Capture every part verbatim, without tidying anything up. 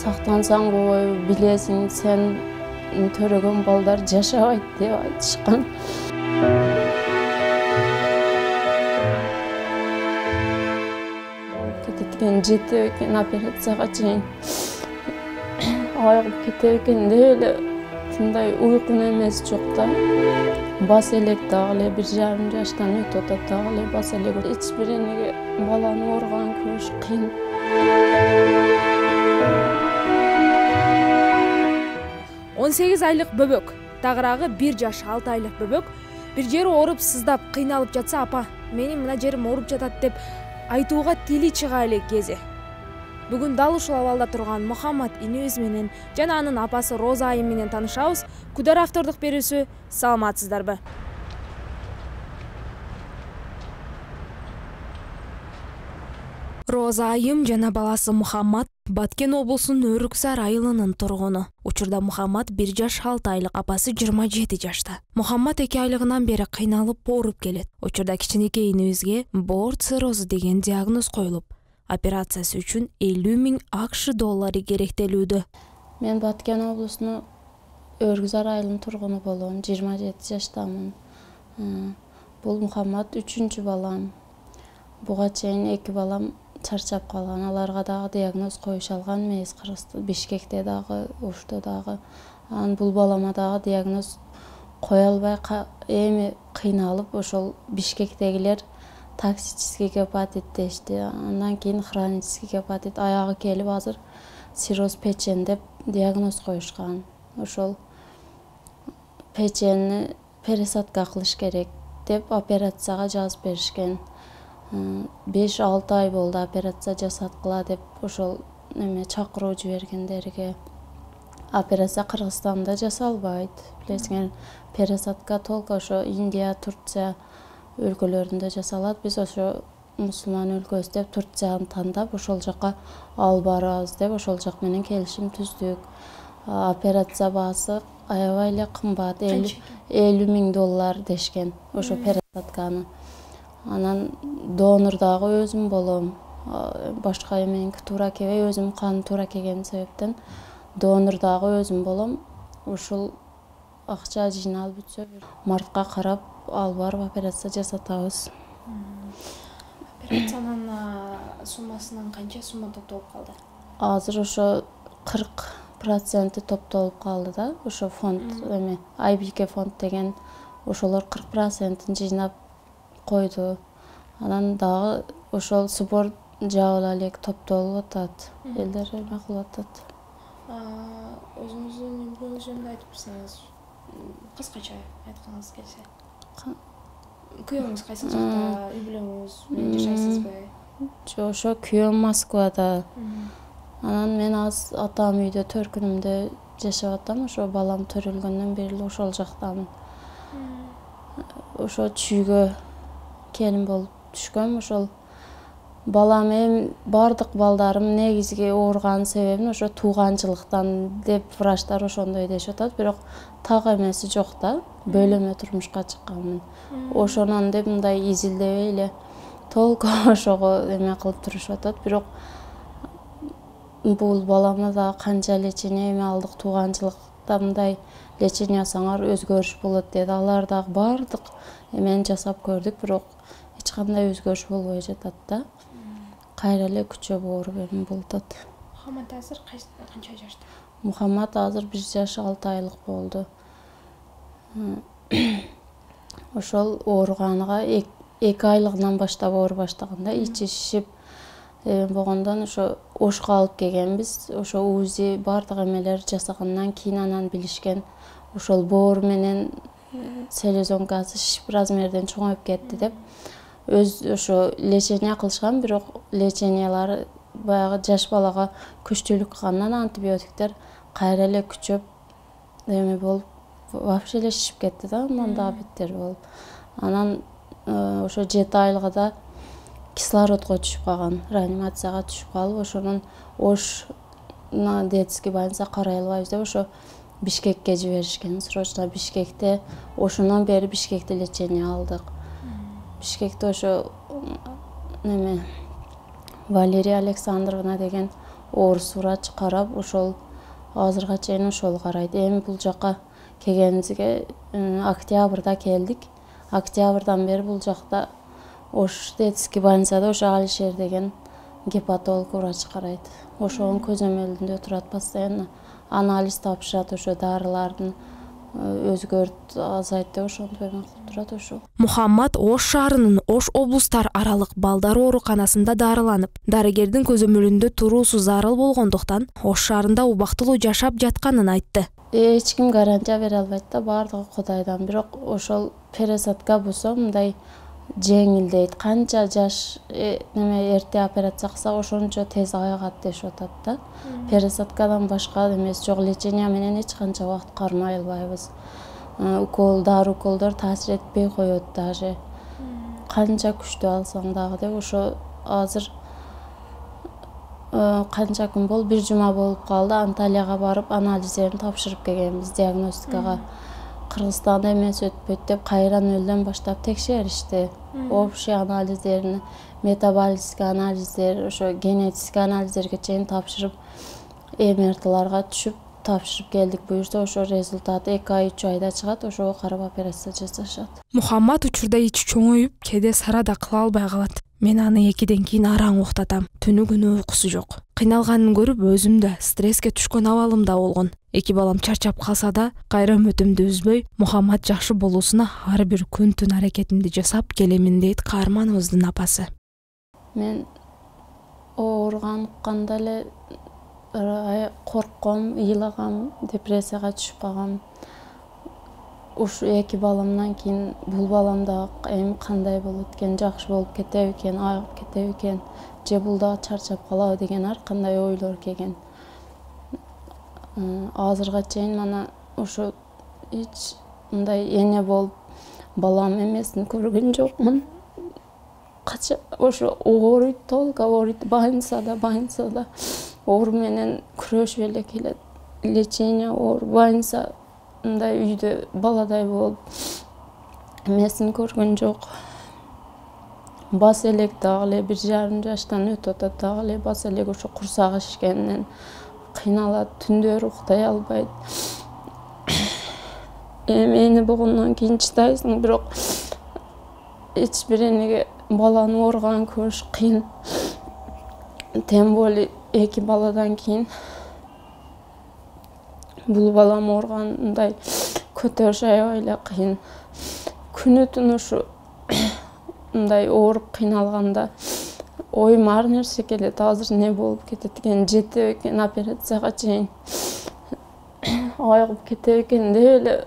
сактансаң кой, билесиң, сен төрөгөн балдар жашабайт деп айтышкан. Кетет жети экен операцияга чейин. Айыгып кетет экен деп эле мындай уйкун эмес жок да. Бас элек дагы эле бир жарым жаштан өтүп атат дагы эле бас элек. Эч бир энеге баланы ооруганын көрүш кыйын. он сегиз айлык бөбөк, тагыраагы бир жаш алты айлык бөбөк бир жери ооруп, сыздап, кыйналып жатса, апа, менин мына жерим ооруп жатат деп айтууга тили чыга элек кези. Бүгүн дал ушул абалда турган Мухаммад инебиз менен жана анын апасы Роза айым менен таанышабыз. Күдөр автордук берүүсү. Саламатсыздарбы? Роза айым жана баласы Мухаммад Баткен облусунун Өрүксар айылынын тургуну. Учурда Мухаммад бир жаш алты айлык, апасы жыйырма жети жашта. Мухаммад эки айлыгынан бери кыйналып ооруп келет. Учурда кичинекей инебизге боорт циррозу деген диагноз коюлуп, операциясы үчүн элүү миң акш доллары керектелүүдө. Мен Баткен облусунун Өрүксар айылынын тургуну болом, жыйырма жети жаштамын. Бул Мухаммад үчүнчү балам. Буга чейин эки балам чарчап калган. Аларга дагы диагноз коюшалган эмес. Бишкекте дагы, Ошто дагы. Анан бул балама дагы диагноз кое албай эми кыйналып, ошол Бишкектегилер токсический гепатит дешти. Андан кийин хронический гепатит, аягы келип азыр цирроз печень деп диагноз коюшкан. Ошол печеньни пересадка кылыш керек деп операцияга жазып беришкен. беш алты ай болду операция жасаткыла деп ошол эме чакыруу жибергендерге. Операция Кыргызстанда жасалбайт. Билесиңер, пересадка только ошо Индия, Турция өлкөлөрүндө жасалат. Биз ошо мусулман өлкөсү деп Турцияны тандап, ошол жака алып барабыз деп ошол жак менен келишим түздүк. Операция баасы аябай эле кымбат, элүү миң доллар дешкен ошо пересадканы. Анан донор дагы өзүм болом. Башка эменики туура келбей, өзүм кан туура келген себептен донор дагы өзүм болом. Ушул акча жыйналып бүтсө, мартка карап алып барып операция жасатабыз. Операциянын суммасынан канча сумма топтолуп калды? Азыр ошо кырк проценти топтолуп калды да. Ошо фонд эме ай би кей фонд деген ошолор кырк процентин жыйнап койду. Анан дагы ошол сбор жабыла элек топтолуп атат. Элдер эме кылып атат. Өзүңүздүн эмгегиңиз жөнүндө айтып берсеңиз, кыскача айткыңыз келсе. Күйөөңүз кайсы жакта, үй бүлөңүз менен жашайсызбы? Жок, ошо күйөөм Москвада. Анан мен азыр атам үйдө, төркүнүмдө жашап атам. Ошо балам төрөлгөндөн бери эле ошол жактамын. Ошо чүйгө келин болуп түшкөм. Ошол балам эми бардык балдарым негизги ооруган себебин ошо тууганчылыктан деп врачтар ошондой дешип атат, бирок так эмеси жок да. Бөлөмө турмушка чыкканмын. Ошонон деп мындай изилдебей эле толку ошого эме кылып турушуп атат, бирок бул баламда дагы канча лечение эме алдык, тууганчылыкта мындай лечение алсаңар өзгөрүш болот деди. Алар дагы бардык эмени жасап көрдүк, бирок эч кандай өзгөрүш болбой жатат да. Кайра эле күчөп ооруп эме болуп атат. Мухаммад азыр канча жашта? Мухаммад азыр бир жаш алты айлык болду. Ошол ооруганыга эки айлыгынан баштап ооруп баштаганда, ичи шишип болгондон ошо Ошко алып келгенбиз. Ошо УЗИ бардык эмелер жасагандан кийин анан билишкен ошол боору менен селезенкасы шишип размерден чоңоюп кетти деп өз ошо лечение кылышкан, бирок лечениялары баягы жаш балага күчтүүлүк кылгандан антибиотиктер кайра эле күчөп эме болуп вообще эле шишип кетти да, андан дагы беттер болуп. Анан ошо жети айлыгында кислородго түшүп калган, реанимацияга түшүп калып, ошонун Ош детский больница карай албайбыз деп ошо Бишкекке жиберишкен. Срочно Бишкекте, ошондон бери Бишкекте лечение алдык. Бишкекте ошо неме Валерия Александровна деген орус врач карап ошол азырга чейин ошол карайт. Эми бул жака келгенибизге октябрда келдик. Октябрдан бери бул жакта Ош детский больницада ошо Алишер деген гепатолог врач карайт. Ошонун көзөмөлүндө турат, постоянно анализ тапшырат, ошо дарылардын өзгөрт азайт деп ошентип эме кылып турат ошо. Мухаммад Ош шаарынын Ош облустар аралык балдар ооруканасында дарыланып, дарыгердин көзөмөлүндө туруусу зарыл болгондуктан Ош шаарында убактылуу жашап жатканын айтты. Эч ким гарантия бере албайт да, баардыгы Кудайдан. Бирок ошол пересадка болсо мындай жеңилдейт. Канча жаш неме эрте операция кылса ошончо тез айыгат дешип атат да. Пересадкадан башка эмес жок, лечение менен эч канча убакыт кармай албайбыз. Укол, дары уколдор таасир этпей коет даже. Канча күчтүү алсаң дагы деп ошо азыр канча күн болду, бир жума болуп калды. Анталияга барып анализдерин тапшырып келгенбиз, диагностикага. Кыргызстанда эмес өтпөйт деп кайра нөлдөн баштап текшеришти. Общий анализдерин, метаболический анализдер, ошо генетический анализдерге чейин тапшырып, МРТларга түшүп тапшырып келдик. Буюрса ошо результат эки ай, үч айда чыгат, ошого карап операция жасашат. Мухаммад учурда ичи чоңоюп, кээде сара да кыла албай калат. Мен аны экиден кийин араң уктатам. Түнү күнү уйкусу жок. Кыйналганын көрүп өзүм да стресске түшкөн абалымда болгон. Эки балам чарчап калса да, кайра үмүтүмдү үзбөй, Мухаммад жакшы болуусуна ар бир күн түн аракетимди жасап келемин дейт каарманыбыздын апасы. Мен ооруган укканда эле коркком, ыйлагам, депрессияга түшүп калгам. Ушу эки баламдан кийин бул балам да эми кандай болот экен, жакшы болуп кетеби экен, айыгып кетеби экен, же бул дагы чарчап калабы деген ар кандай ойлор келген. Азырга чейин мана ошо эч мындай эне болуп балам эмесин көргөн жокмун. Кача ошо ооруйт, толук ооруйт, больницада, больницада оору менен күрөшүп эле келет. Лечение, оору, больница мындай үйдө баладай болуп эмесин көргөн жок. Бас элек дагы эле бир жарым жаштан өтүп атат, дагы эле бас элек ошо курсагы шишкенинен кыйналат, түндөрү уктай албайт. Эми эне болгондон кийин чыдайсың, бирок эч бир энеге баланын ооруганын көрүш кыйын. Тем более эки баладан кийин бул балам ооругандай көтөрүш аябай эле кыйын. Күнү түн ушу мындай ооруп кыйналганда оюма ар нерсе келет. Азыр не болуп кетет экен, жетеби экен операцияга чейин, айыгып кетеби экен деп эле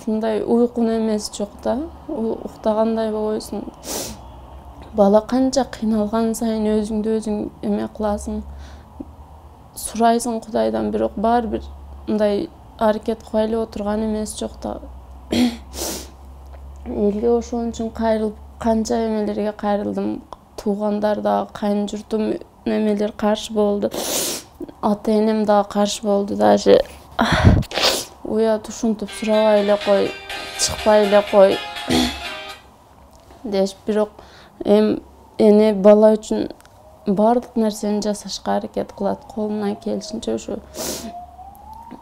мындай уйкун эмеси жок да, уктагандай болбойсуң. Бала канча кыйналган сайын өзүңдү өзүң эме кыласың, сурайсың Кудайдан, бирок баары бир мындай аракет кыла эле отурган эмеси жок да. Элге ошон үчүн кайрылып, канча эмелерге кайрылдым. Туугандар да, кайын журтум немелер каршы болду. Ата энем да каршы болду. Даже уят ушинтип сурабай эле кой, чыкпай эле кой деш. Бирок эми эне бала үчүн баардык нерсени жасашка аракет кылат. Колунан келишинче ошо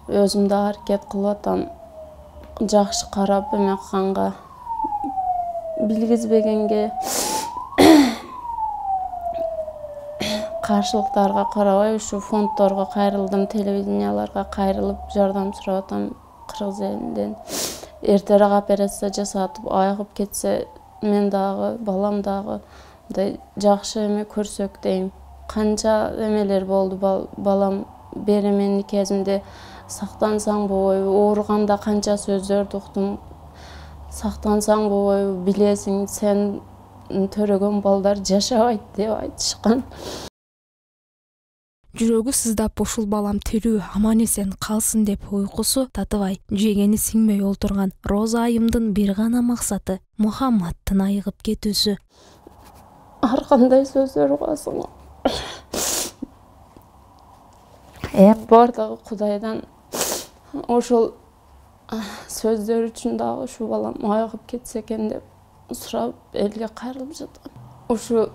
өзүм да аракет кылып атам. Жакшы карап эме кылганга, билгизбегенге, каршылыктарга карабай ушу фонддорго кайрылдым, телевиденияларга кайрылып жардам сурап атам кыргыз элинен. Эртерээк операция жасатып айыгып кетсе, мен дагы, балам дагы мындай жакшы эме көрсөк дейм. Канча эмелер болду, балам беременный кезимде сактансаң болбойбу, ооруганда канча сөздөрдү уктум. Сактансаң болбойбу, билесиң, сен төрөгөн балдар жашабайт деп айтышкан. Жүрөгү сыздап ушул балам тирүү, аман эсен калсын деп уйкусу татыбай, жегени сиңбей олтурган Роза айымдын бир гана максаты Мухаммаддын айыгып кетүүсү. Ар кандай сөздөр угасың. Эми баардыгы Кудайдан. Ошол сөздөр үчүн дагы ушу балам айыгып кетсе экен деп сурап элге кайрылып жатам. Ушу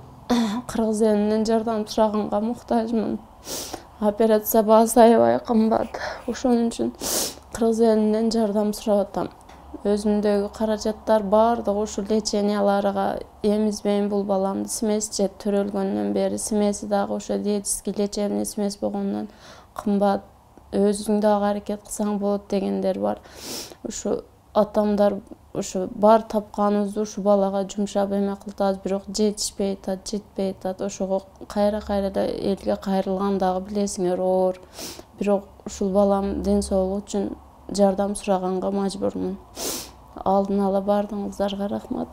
кыргыз элинен жардам сураганга муктажмын. Операция баасы аябай кымбат. Ошон үчүн кыргыз элинен жардам сурап атам. Өзүмдөгү каражаттар баардыгы ушул леченияларга эмизбейм бул баламды. Смесь же төрөлгөндөн бери смеси дагы ошо диетический лечебный смесь болгондон кымбат. Өзүң дагы аракет кылсаң болот дегендер бар. Ушу атамдар ушу бар тапканыбызды ушу балага жумшап эме кылтабыз, бирок жетишпей атат, жетпей атат. Ошого кайра-кайра элге кайрылган дагы билесиңер оор. Бирок ушул балам ден соолугу үчүн жардам сураганга мажбурмун. Алдын ала бардыгыңыздарга рахмат.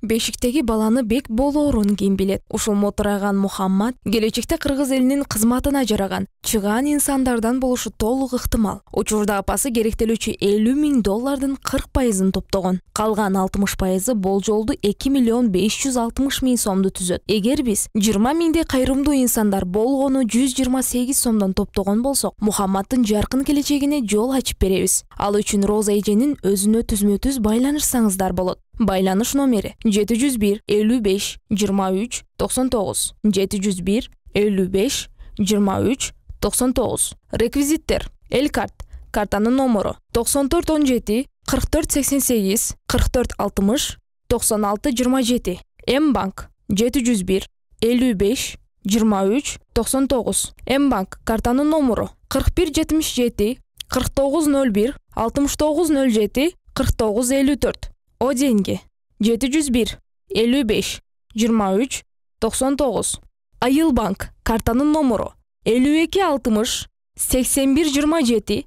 Бешиктеги баланы бек болоорун ким билет? Ушул мотураган Мухаммад келечекте кыргыз элинин кызматына жараган, чыгаан инсандардан болушу толук ыктымал. Учурда апасы керектелүүчү элүү миң доллардын кырк пайызын топтогон. Калган алтымыш пайызы болжолду эки миллион беш жүз алтымыш миң сомду түзөт. Эгер биз жыйырма миңдей кайрымдуу инсандар болгону жүз жыйырма сегиз сомдон топтогон болсок, Мухаммаддын жаркын келечегине жол ачып беребиз. Ал үчүн Роза эженин өзүнө түзмө-түз байланышсаңыздар болот. Байланыш номери жети жүз бир элүү беш жыйырма үч токсон тогуз жети жүз бир элүү беш жыйырма үч токсон тогуз. Реквизиттер: Элкарт, картанын номеру токсон төрт он жети кырк төрт сексен сегиз кырк төрт алтымыш токсон алты жыйырма жети. М-банк жети жүз бир элүү беш жыйырма үч токсон тогуз. М-банк картанын номеру кырк бир жетимиш жети кырк тогуз ноль бир алтымыш тогуз ноль жети кырк тогуз элүү төрт. О деньги жети жүз бир элүү беш жыйырма үч токсон тогуз. Айылбанк картанын номеру элүү эки алтымыш сексен бир жыйырма жети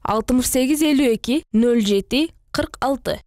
алтымыш сегиз элүү эки ноль жети кырк алты.